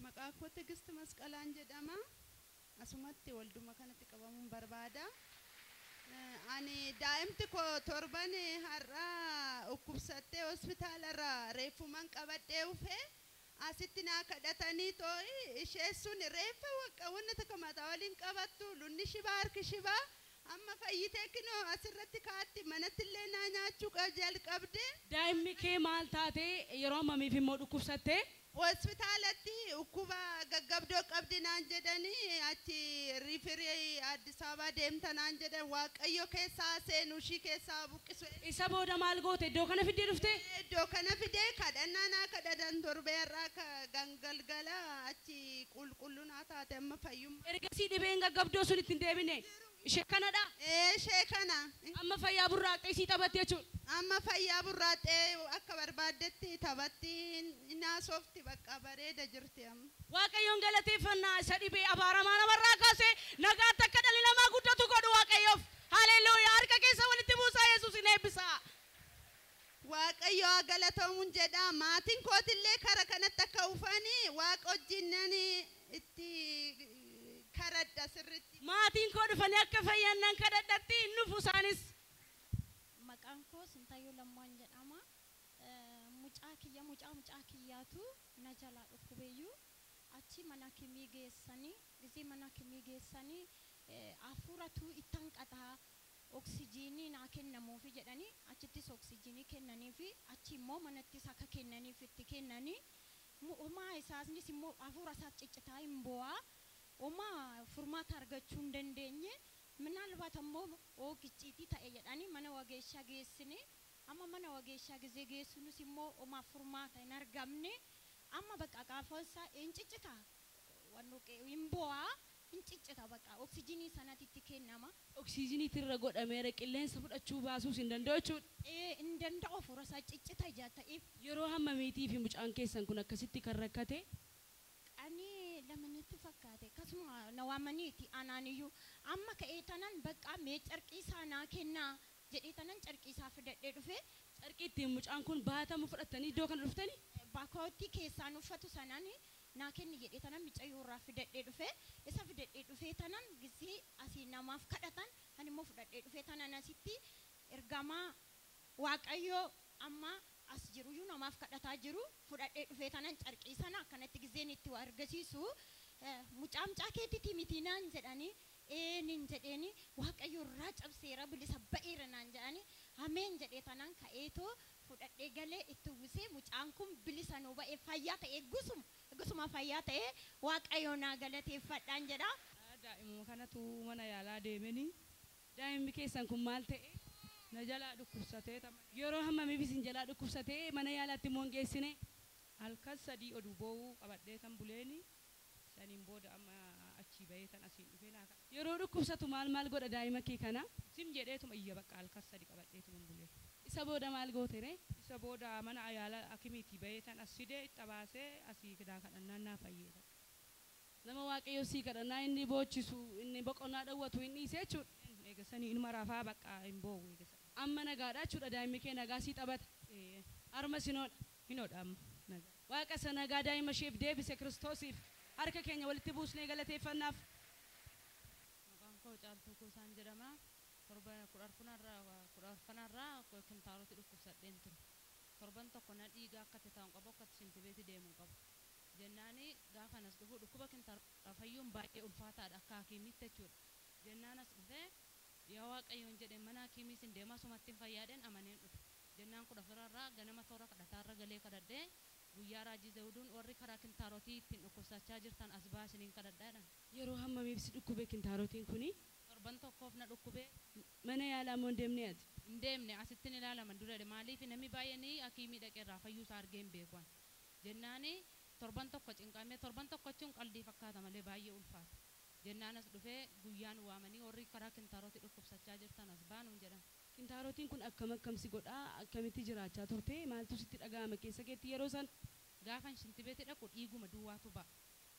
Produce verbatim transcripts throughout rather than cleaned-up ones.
Maqaan koo Tigist Masqalaan jedhama. Asumatti walduma kanatti qabamuun barbaada. Ani daa'imti koo torban har'aa dhukkubsattee hospitaalarraa reeffuman qabadhee dhufe asitti naa kadhatanii too'i ishee sun reeffa waqqa wanna takka mataa waliin qabattu lunni shibaa harki shibaa amma fayyitee kinoo asirratti kaatti manatti illee naa nyaachuu jalqabde. Daa'imni kee maal taate yeroo ammamiif immoo dhukkubsatte? Hospitaalatti dhukkuba gaggabdoo qabdi naan jedhanii achi riifirii Addis Ababaa deemta naan jedhan Waaqayyo keessaa seenu ishii keessaa buqqisu. Isa booda maal goote iddoo kana fiddee dhufte? Iddoo kana fidee kadhannaa naa kadhatan torbee irraa gangalgala achi qulqulluu naa taate amma fayyummaa. Ergasii dhibeen gaggabdoo sun ittiin deebine ishee kanadha? Ee ishee kana. Amma fayyaa burraaqxee isii taphatte jechuudha. Amma fayyaa burraaqxee akka barbaaddetti taphatti naasofti bakka bareeda jirti amma. Waaqayyoon galateeffannaa isa dhibee abaaramaa namarraa kaasee nagaatti akka dhalli namaa guddatu godhu Waaqayyoof. Haleluuyaa harka keessa walitti buusaa Yesuus hin eebbisa. Waaqayyo haa galatoomuun jedha maatiin kootillee kara kanatti akka dhufanii waaqa wajjin itti karadha sirriitti. Maatiin koo dhufanii akka fayyan nan kadhadhatti hin dhufu isaanis. Maqaan koo Sintayyoo Lammaan jedhama. Mucaa kiyya mucaa mucaa kiyyaatu na jalaa dhukkubeeyyuu achi mana kimii geessanii gisee mana kimii geessanii hafuuratu itti hanqataa oksijiinii naa kennamuufi jedhanii achittis oksijiinii kennaniifi achi immoo manattis akka kennaniif itti kennanii homaa isaasnis immoo hafuura isaas ciccitaa hin bo'aa homaa furmaata argachuu hin dandeenye minaalbaat ammoo oogicciitii ta'e jedhanii mana wageeshaa geessine amma mana wageeshaa gisee geessinus immoo homaa furmaata hin argamne amma bakka qaafansaa hin ciccita hin bo'aa hin ciccita bakka oksijiinii sanatti itti kennama. Oksijiinii irra godhameera qilleensa fudhachuu baasuus hin danda'u jechuudha. Ee hin danda'u hafuura isaa ciccita ijaa ta'eef. Yeroo hammamiitii fi mucaan keessan kun akkasitti kan rakkate? Ani lamanitti fakkaate akkasuma na waamaniiti anaaniyyuu amma ka'ee tanan bakka mee carqii isaa naa kennaa jedhee tanan carqii isaa fidadhee dhufe. Carqii ittiin mucaan kun baatamu fudhattanii iddoo kana dhuftanii? Baakootti keessaan uffatu sanaan naa kenni jedhee tanan mucayyoo irraa fidadhee dhufe isa fidadhee dhufee tanan gisee asii namaaf kadhatan ani immoo fudhadhee dhufee tanan asitti ergamaa Waaqayyoo amma as jiruyyuu namaaf kadhataa jiru fudhadhee dhufee tanan carqii sana akkanatti giseen itti waa argisiisu mucaa mucaa keetiiti miti naan jedhanii ee nin jedheeni Waaqayyo irraa cabseera bilisa ba'eera naan jedhanii ameen jedhee tanan ka'eetoo fudhadhee galee itti uwwisee mucaan kun bilisa nuu ba'ee fayyaa ta'ee gusuma gusuma fayyaa ta'ee Waaqayyo naa galateeffadhaan jedha. Daa'imuma kanatu mana yaalaa deemanii. Daa'imni keessan kun maal ta'e? Na jalaa dhukkubsatee. Yeroo hammamiif isin jalaa dhukkubsatee mana yaalaatti immoo hin geessine? Halkan sadii oduu boo'uu qabadhee tan buleeni saniin booda amma achii bahee tan asiin dhufee naa kadha. Yeroo dhukkubsatu maal maal godha daa'ima kee kana? Sim jedheetuma iyya bakka halkan sadii qabadheetuma bulee. Isa booda maal goote ree? Isa booda mana yaala akimiitii bahee tan as fidee itti baasee asii naa kadhannaan naa fayyee. Nama Waaqayyo sii kadhannaa inni boochisu inni boqonnaa dhowwatu inni dhiise jechuudha. Eegasanii inuma rafaa bakka hin boo'u eegasanii. Amma nagaadha jechuudha daa'imni kee nagaa sii taphata. Harma sinoodha. Hinoodha amma nagaa. Waaqa isa nagaa daa'ima isheef deebise Kiristoosiif harka keenya walitti buusnee galateeffannaaf. Maqaan koo Caaltuu Kuusaan jedhama. Torba kudha arfanarraa kudha arfanarraa kintaarotti dhukkubsadheen ture. Torban tokko na dhiiga akka itti taa'u qabu akka itti shintibeetti deemu qabu. Jennaani gaafa nas dhufu dhukkuba kintaarotti fayyuun baay'ee ulfaataadha akka hakiimitti jechuudha. Jennaan as dhufee yaa Waaqayyoon jedhee mana hakiimiis hin deemaa sumatti hin fayyaadheen amaneen dhufe. Jennaan kudha afurarraa ganama toora kadhataarra galee kadhadhee guyyaa raajii Zawuduun warri karaa kintaarotii ittiin dhukkubsachaa jirtan as baasiniin kadhadhaadhaan. Yeroo hammamiif si dhukkube kintaarotiin kuni? Torban tokkoof na dhukkube. Mana yaalaa moo hin deemne ati? Hin deemne asitti ni ilaalaman dura maaliif namni baay'een hakiimii dhaqeerraa fayyuu isaa argee hin beeku. Jennaani torban tokko cinqamee torban tokko jechuun qaldii fakkaata malee baay'ee ulfaata. Jennaan as dhufee guyyaan waamanii warri karaa kintaarotii dhukkubsachaa jirtan as baanuun jedhan. Kintaarotiin kun akkam akkam si godhaa akkamitti jiraachaa turte maaltu sitti dhaga'ama keessa keetti yeroo san? Gaafan shintibeetii dhaqu dhiiguma duwwaatu ba'a.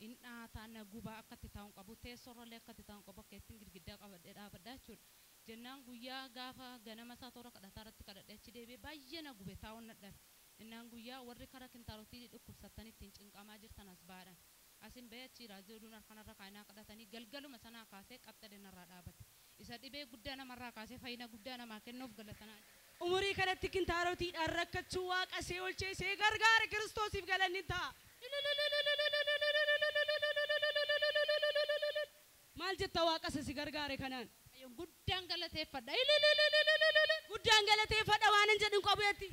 In dhaataa na gubaa akka itti taa'u hin qabu teessoorrallee akka itti taa'u hin qabu akka ittiin girgiddaa qabadhee dhaabadhaa jechuudha. Jennaan guyyaa gaafa ganama isaa toora kadhataa irratti kadhadhee achi deebi'ee baay'ee na gube taa'uun na dhabe. Innaan guyyaa warri kara kintaarotii dhukkubsattanii ittiin cinqamaa jirtan as baadhan. Asin bahee achi raajii oduun harkanarra kaa'inaa kadhatanii galgaluma sanaa kaasee qaxxadee narraa dhaabate. Isa dhibee guddaa namarraa kaasee fayyina guddaa namaa kennuuf galatanaa. Umurii kanatti kintaarotiidhaan rakkachuu waaqa see olchee see gargaare Kiristoosiif galanni ta'a. Maal jetta waaqa isa si gargaare kanaan? Guddaan galateeffadha. Guddaan galateeffadha waan hin jedhin qabu jetti.